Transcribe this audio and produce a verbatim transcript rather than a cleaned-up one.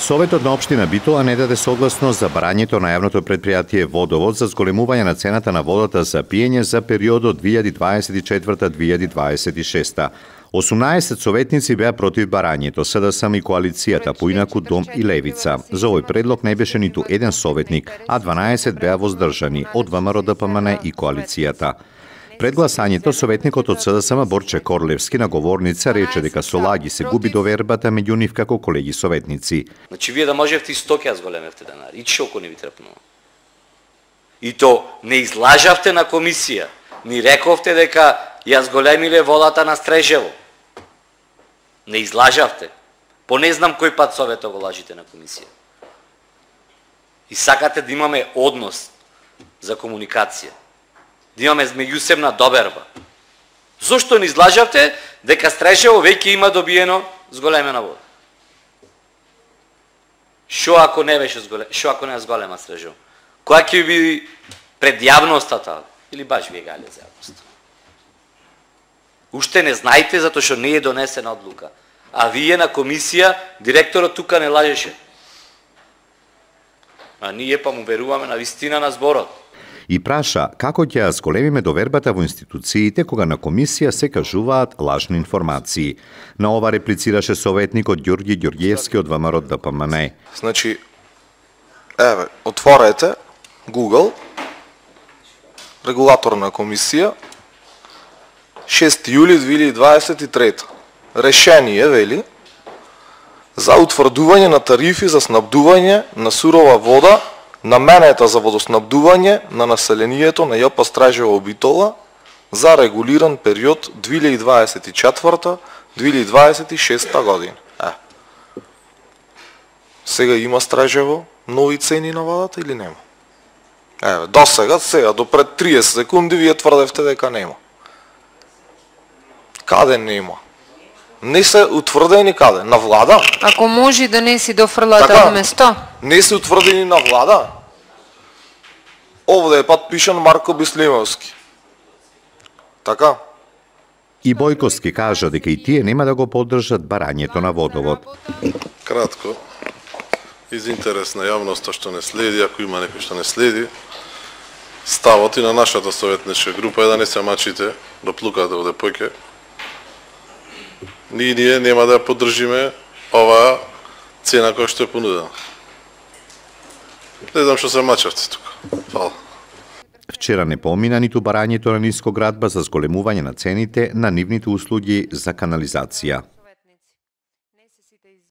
Советот на општина Битола не даде согласност за барањето на јавното предпријатие Водовод за зголемување на цената на водата за пиење за периодот две илјади дваесет и четврта до две илјади дваесет и шеста. осумнаесет советници беа против барањето, СДСМ и коалицијата, поинаку Дом и Левица. За овој предлог не беше ниту еден советник, а дванаесет беа воздржани од ВМРО, ДПМН и коалицијата. Пред гласањето, советникот од СДСМ Борче Корлевски на говорница рече дека со лаги се губи довербата меѓу нив како колеги советници. Значи, вие да можевте и сто ќе зголемевте денари, и чоко не ви трпнува. И то не излажавте на комисија, ни рековте дека ја зголемиле водата на Стрежево. Не излажавте. По не знам кој пат совето го лажите на комисија. И сакате да имаме однос за комуникација. Да имаме меѓусебна доберба. Зошто не излажавте дека Стрежево веќе има добиено зголемена вода? Шо ако не беше зголема, шо ако не е зголема Стрежево? Која ќе биде пред јавноста таа? Или баш вие гале за јавноста? Уште не знаете затоа што не е донесена одлука. А вие на комисија, директорот тука не лажеше. А ние па му веруваме на вистина на зборот. И праша како ќе ја зголемиме довербата во институциите кога на комисија се кажуваат лажни информации. На ова реплицираше советникот Ѓорѓи Ѓорѓиевски од ВМРО ДПМН. Значи, еве, отворете Google, регулаторна комисија, шести јули две илјади дваесет и трета. Решение, вели, за утврдување на тарифи за снабдување на сурова вода наменета за водоснабдување на населението на ЈП Стражево Битола за регулиран период две илјади дваесет и четврта до две илјади дваесет и шеста година. Е. Сега има Стражево нови цени на водата или нема? Еве, до сега, сега, до пред триесет секунди вие тврдевте дека нема. Каде нема? Не се утврдени каде? На влада? Ако може да не си дофрлате така, од место. Не се утврдени на влада? Овде е подпишан Марко Бислимовски. Така? И Бојковски кажа дека и тие нема да го поддржат барањето на Водовод. Кратко, из интерес на јавноста што не следи, ако има некој што не следи, ставот и на нашата советничка група е да не се мачите, да плукате оде поќе. Ние, ние нема да ја поддржиме оваа цена која што е понудена. Не знам што се мачавте тука. Фала. Вчера не помина ниту барањето на Нискоградба за зголемување на цените на нивните услуги за канализација.